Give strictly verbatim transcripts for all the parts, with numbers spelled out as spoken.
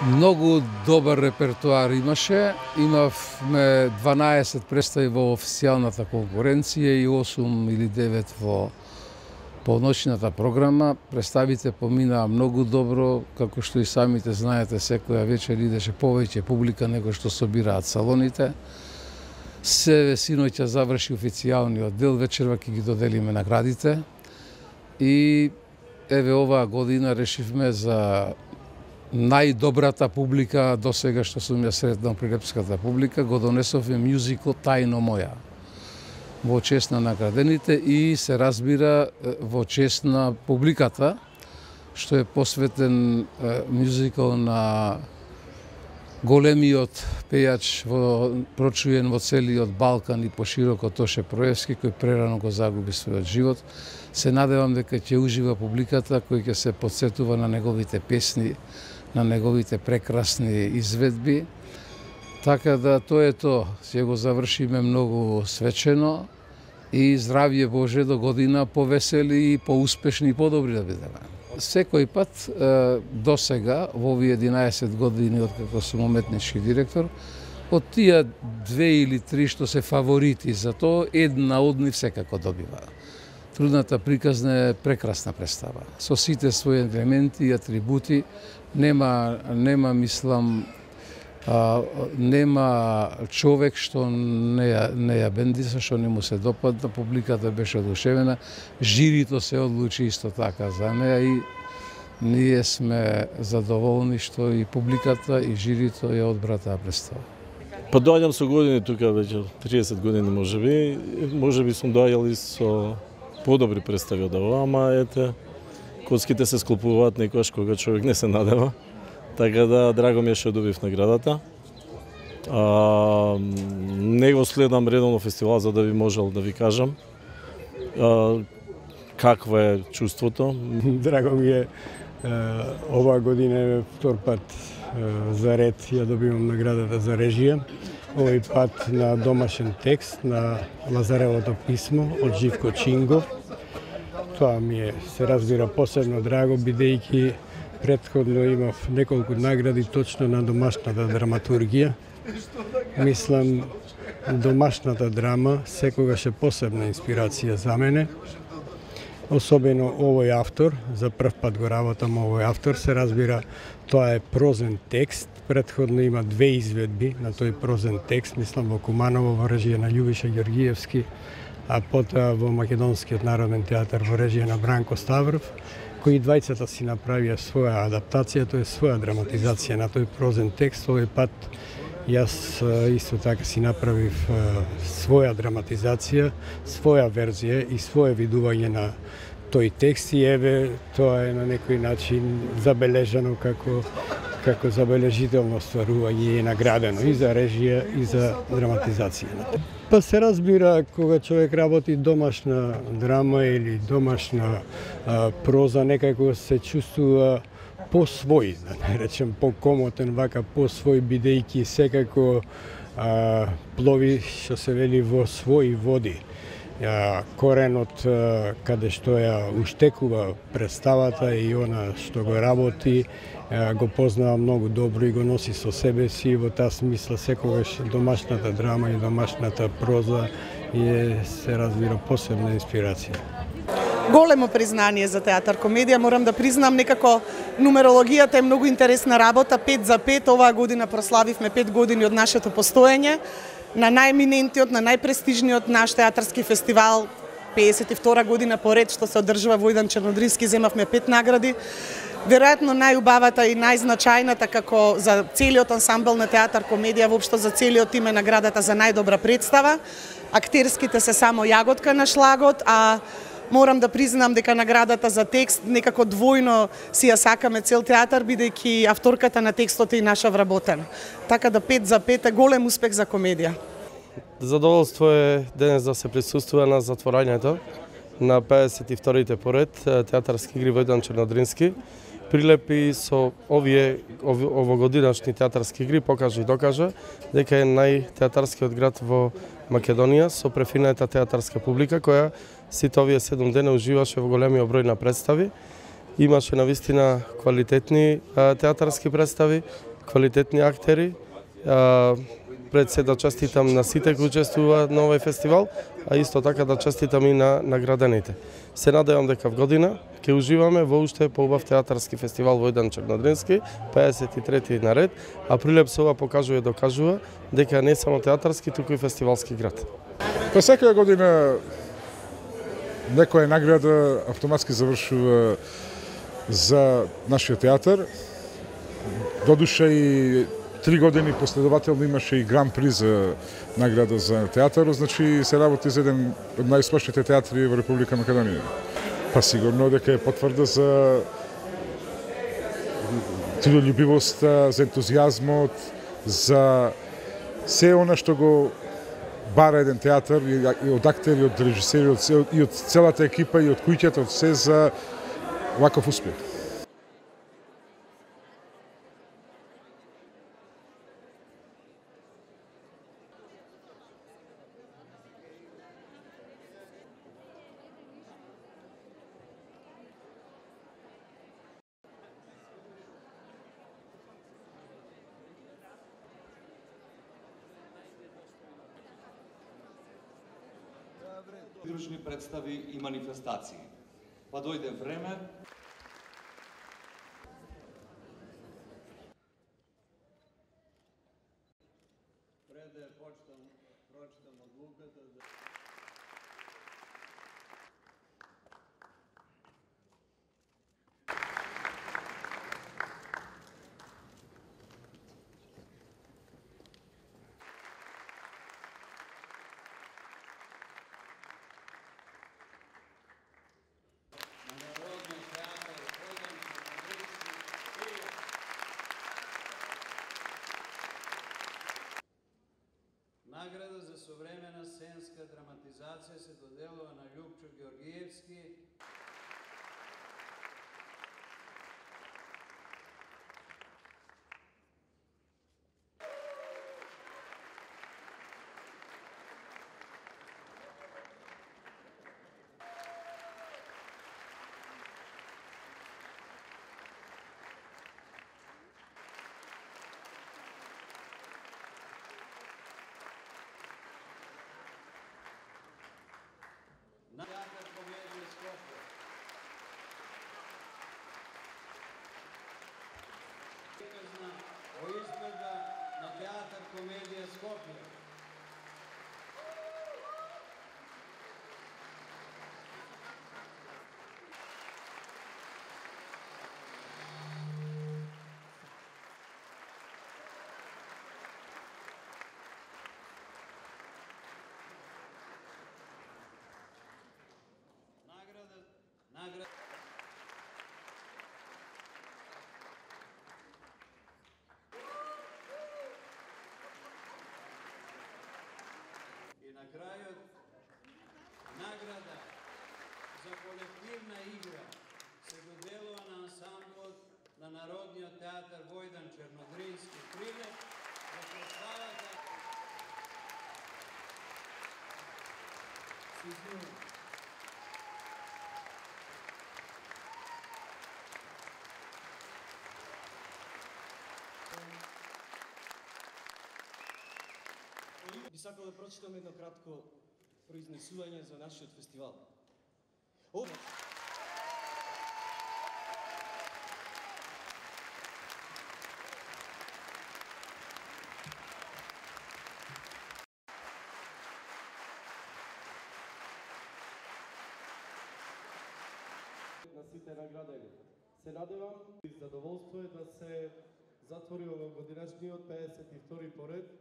Многу добар репертуар имаше. Имавме дванаесет представи во официјалната конкуренција и осум или девет во полночната програма. Представите поминаа многу добро, како што и самите знаете, секоја вечер идеше повеќе публика него што собираат салоните. Се синоќа заврши официјалниот дел, вечерва ќе ги доделиме наградите. И еве оваа година решивме за најдобрата публика до сега што сум ја сретнал при репската публика, го донесовме мюзикл Тајно моја во чест на наградените и се разбира во чест на публиката, што е посветен мюзикл на големиот пејач во прочуен во целиот Балкан и пошироко Тоше Проевски, кој прерано го загуби својот живот. Се надевам дека ќе ужива публиката кој ќе се потсетува на неговите песни, на неговите прекрасни изведби. Така да тоа е тоа. Ќе го завршиме многу свечено и здравје Боже до година повесели и поуспешни и подобри да бидеме. Секој пат до сега, во овие единаесет години откако сум уметнички директор, од тие две или три што се фаворити за тоа, една од нив секако добива. Трудната приказна е прекрасна представа, со сите своји елементи и атрибути. Нема, нема мислам, а, нема човек што не ја, не ја бендиса, што не му се допадна, публиката беше одушевена, жирито се одлучи исто така за неа и ние сме задоволни што и публиката и жирито ја одбра таа представа. Па доаѓам со години тука, веќе триесет години можеби, можеби сум доаѓал и со подобри представи од ова, ама ете, коцките се склопуваат некојаш кога човек не се надева. Така да, драго ми е што добив наградата. А, не го следам редовно фестивал за да ви можел да ви кажам а, какво е чувството. Драго ми е, оваа година е втор пат за ред ја добивам наградата за режија. Овој пат на домашен текст на Лазаревото писмо од Живко Чингов. Тоа ми е, се разбира, посебно драго, бидејќи претходно имав неколку награди точно на домашната драматургија. Мислам, домашната драма секогаш е посебна инспирација за мене. Особено овој автор, за прв пат го работам овој автор, се разбира, тоа е прозен текст. Претходно има две изведби на тој прозен текст, мислам во Куманово во режија на Љубиша Ѓоргиевски, а потоа во Македонскиот народен театар во режија на Бранко Ставров, кои двајцата си направија своја адаптација, тоа е своја драматизација на тој прозен текст. Овој пат јас исто така си направив своја драматизација, своја верзија и свое видување на тој текст и еве тоа е на некој начин забележано како како забележително стварување и наградено и за режија и за драматизација. Па се разбира, кога човек работи домашна драма или домашна а, проза, некако се чувствува по-свој, да не речем по-комотен, вака по-свој, бидејќи секако а, плови, што се вели, во своји води. А, коренот а, каде што ја уштекува представата и она што го работи, а, го познава многу добро и го носи со себе си. Во таа смисла секогаш домашната драма и домашната проза е, се разбира, посебна инспирација. Големо признание за театар комедија, морам да признам, некако нумерологијата е многу интересна работа, пет за пет, оваа година прославивме пет години од нашето постоење, на најеминентиот, на најпрестижниот наш театарски фестивал, педесет и втора година поред што се одржува во Идан Чернодрински, земавме пет награди. Веројатно најубавата и најзначајната како за целиот ансамбл на театар комедија, воопшто за целиот тим е наградата за најдобра представа. Актерските се само јаготка на шлагот, а морам да признам дека наградата за текст некако двојно си ја сакаме цел театар, бидејќи авторката на текстот е и наша вработена. Така да пет за пет е голем успех за комедија. Задоволство е денес да се присуствува на затворањето на педесет и вторите поред театарски игри во Идан Чернодрински. Прилепи со овие овогодинашни театарски игри покажа и докажа дека е најтеатарскиот град во Македонија со префинета театарска публика која сите овие седум дена уживаше во големиот број на представи. Имаше навистина квалитетни театарски представи квалитетни актери. Пред се да честитам на сите кои учествуваат на овој фестивал, а исто така да честитам и на наградените. Се надевам дека в година ќе уживаме во уште поубав театарски фестивал Војдан Чернодрински, педесет и трети наред, а Прилеп се ова покажува и докажува дека не само театарски, туку и фестивалски град. Па секоја година некоја награда автоматски завршува за нашиот театар. Додуша и три години последователно имаше и гран при за награда за театар, значи се работи за еден од најуспешните театри во Република Македонија. Па сигурно дека е потврда за трудолюбивоста, за ентузијазмот, за се она што го бара еден театар и од актери, од режисери, и од целата екипа и од куќата, од се за ваков успех. Придружни представи и манифестации. Па дојде време пред да почнам прочитам одлуката за Награда за современа сценска драматизација се доделува на Љупчо Ѓоргиевски. На театар комедија Скопје. Приказна во изгледа на театар комедија Скопје. Награда и на крајот награда за колективна игра се доделува на ансамблот на Народниот театар Војдан Чернодрински Прилеп за представата Би сакал да прочитам едно кратко произнесување за нашиот фестивал. О... На сите наградени. Се надевам и задоволство е да се затвори овогодинешниот педесет и втори поред.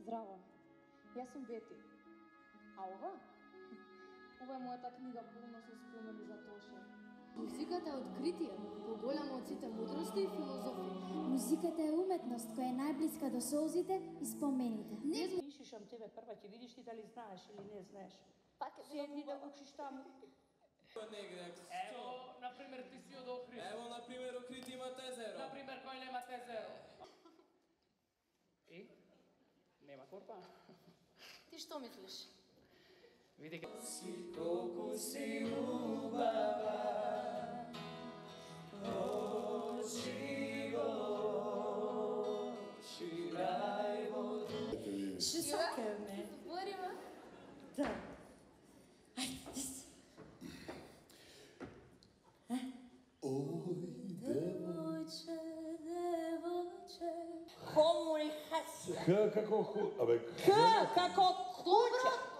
Здраво, јас сум Бети. А ова? Ова е мојата книга полна со спомени за Тоше. Музиката е откритие, поголемо од сите мудрости и филозофија. Музиката е уметност која е најблиска до солзите и спомените. Не слушам тебе прва, ќе видиш ти дали знаеш или не знаеш. Пак е седни да учиш таму. Ево, например, ти си од Охрид. Ево, например, Охрид има Тезеро. Например, кој нема Тезеро? И? Нема корпа. Ти што мислиш? Види ке... Си колку си убава, очи го, ширај во душу. Ще сакаме. Збориме? Да. Ајде. Ој, девојче, девојче. Хому и хаси. Х како ху... Абе, Х како куќа.